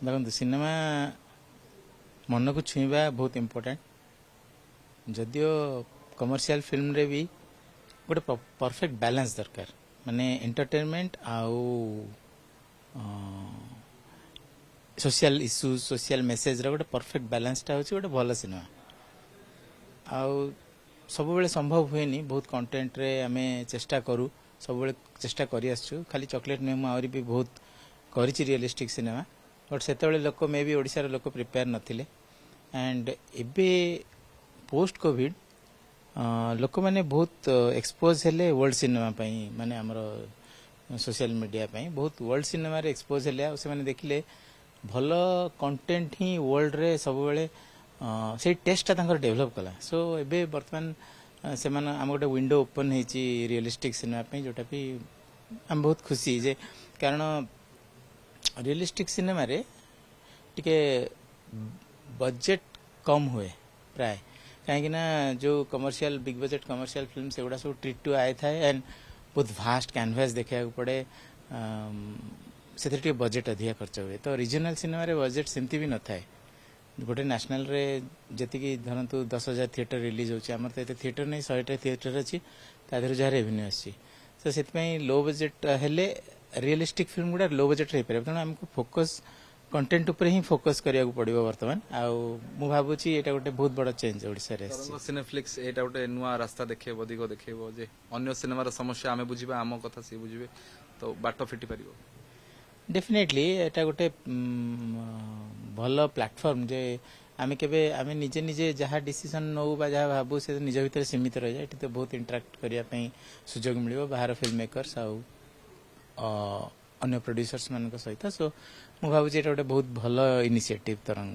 ଦେଖନ୍ତୁ, ସିନେମା ମନକୁ ଛୁଇଁବା ବହୁତ ଇମ୍ପୋର୍ଟାଣ୍ଟ। ଯଦିଓ କମର୍ସିଆଲ ଫିଲ୍ମରେ ବି ଗୋଟେ ପରଫେକ୍ଟ ବାଲାନ୍ସ ଦରକାର, ମାନେ ଏଣ୍ଟରଟେନମେଣ୍ଟ ଆଉ ସୋସିଆଲ ଇସ୍ୟୁ, ସୋସିଆଲ ମେସେଜର ଗୋଟେ ପରଫେକ୍ଟ ବାଲାନ୍ସଟା ହେଉଛି ଗୋଟେ ଭଲ ସିନେମା। ଆଉ ସବୁବେଳେ ସମ୍ଭବ ହୁଏନି। ବହୁତ କଣ୍ଟେଣ୍ଟରେ ଆମେ ଚେଷ୍ଟା କରୁ, ସବୁବେଳେ ଚେଷ୍ଟା କରି ଆସିଛୁ। ଖାଲି ଚକୋଲେଟ୍ ନୁହେଁ, ମୁଁ ଆହୁରି ବି ବହୁତ କରିଛି ରିଅଲିଷ୍ଟିକ୍ ସିନେମା। ବଟ୍ ସେତେବେଳେ ଲୋକ, ମେ ବି ଓଡ଼ିଶାର ଲୋକ ପ୍ରିପେୟାର ନଥିଲେ। ଆଣ୍ଡ ଏବେ ପୋଷ୍ଟ କୋଭିଡ ଲୋକମାନେ ବହୁତ ଏକ୍ସପୋଜ ହେଲେ ୱାର୍ଲଡ ସିନେମା ପାଇଁ, ମାନେ ଆମର ସୋସିଆଲ ମିଡିଆ ପାଇଁ ବହୁତ ୱାର୍ଲଡ ସିନେମାରେ ଏକ୍ସପୋଜ ହେଲେ। ଆଉ ସେମାନେ ଦେଖିଲେ ଭଲ କଣ୍ଟେଣ୍ଟ ହିଁ ୱାର୍ଲଡରେ ସବୁବେଳେ, ସେଇ ଟେଷ୍ଟଟା ତାଙ୍କର ଡେଭଲପ୍ କଲା। ସୋ ଏବେ ବର୍ତ୍ତମାନ ସେମାନେ ଆମ ଗୋଟେ ୱିଣ୍ଡୋ ଓପନ୍ ହେଇଛି ରିଅଲିଷ୍ଟିକ୍ ସିନେମା ପାଇଁ, ଯୋଉଟା ବି ଆମେ ବହୁତ ଖୁସି ଯେ, କାରଣ ରିଅଲିଷ୍ଟିକ୍ ସିନେମାରେ ଟିକେ ବଜେଟ୍ କମ୍ ହୁଏ ପ୍ରାୟ, କାହିଁକି ନା ଯୋଉ commercial, big budget commercial film, ସେଗୁଡ଼ା ସବୁ ଟ୍ରିଟ୍ ଟୁ I ଥାଏ ଆଣ୍ଡ ବହୁତ ଭାଷ୍ଟ କ୍ୟାନଭାସ୍ ଦେଖିବାକୁ ପଡ଼େ। ସେଥିରେ ଟିକେ ବଜେଟ୍ ଅଧିକା ଖର୍ଚ୍ଚ ହୁଏ। ତ ରିଜନାଲ ସିନେମାରେ ବଜେଟ୍ ସେମିତି ବି ନଥାଏ। ଗୋଟେ ନ୍ୟାସନାଲରେ ଯେତିକି ଧରନ୍ତୁ 10,000 ଥିଏଟର ରିଲିଜ୍ ହେଉଛି, ଆମର ତ ଏତେ ଥିଏଟର ନାହିଁ, 100ଟା ଥିଏଟର ଅଛି, ତା ଦେହରୁ ଯାହା ରେଭିନ୍ୟୁ ଆସୁଛି। ତ ସେଥିପାଇଁ ଲୋ ବଜେଟ୍ ହେଲେ ରିଅଲିଷ୍ଟିକ୍ ଫିଲ୍ମ ଗୁଡ଼ା ଲୋ ବଜେଟ୍ରେ ହେଇପାରିବ। ତେଣୁ ଆମକୁ ଫୋକସ୍ କଣ୍ଟେଣ୍ଟ ଉପରେ ହିଁ ଫୋକସ୍ କରିବାକୁ ପଡ଼ିବ ବର୍ତ୍ତମାନ। ଆଉ ମୁଁ ଭାବୁଛି ଏଇଟା ଗୋଟେ ବହୁତ ବଡ଼ ଚେଞ୍ଜ ଓଡ଼ିଶାରେ ଆସିଛି। ତରଙ୍ଗ ସିନେଫ୍ଲିକ୍ସ ଏଇଟା ଗୋଟେ ନୂଆ ରାସ୍ତା ଦେଖେଇବ, ଦିଗ ଦେଖେଇବ ଯେ ଅନ୍ୟ ସିନେମାର ସମସ୍ୟା ଆମେ ବୁଝିବା, ଆମ କଥା ସିଏ ବୁଝିବେ, ତ ବାଟ ଫିଟି ପାରିବ। ଡେଫିନେଟଲି ଏଇଟା ଗୋଟେ ଭଲ ପ୍ଲାଟଫର୍ମ ଯେ ଆମେ କେବେ ଆମେ ନିଜେ ନିଜେ ଯାହା ଡିସିସନ ନେଉ ବା ଯାହା ଭାବୁ, ସେ ନିଜ ଭିତରେ ସୀମିତ ରହିଯାଏ। ଏଠି ତ ବହୁତ ଇଣ୍ଟରାକ୍ଟ କରିବା ପାଇଁ ସୁଯୋଗ ମିଳିବ ବାହାର ଫିଲ୍ମ ମେକର୍ସ ଆଉ ଅନ୍ୟ ପ୍ରଡ୍ୟୁସର୍ସ ମାନଙ୍କ ସହିତ। ସୋ ମୁଁ ଭାବୁଛି ଏଇଟା ଗୋଟେ ବହୁତ ଭଲ ଇନିସିଏଟିଭ ତରଙ୍ଗ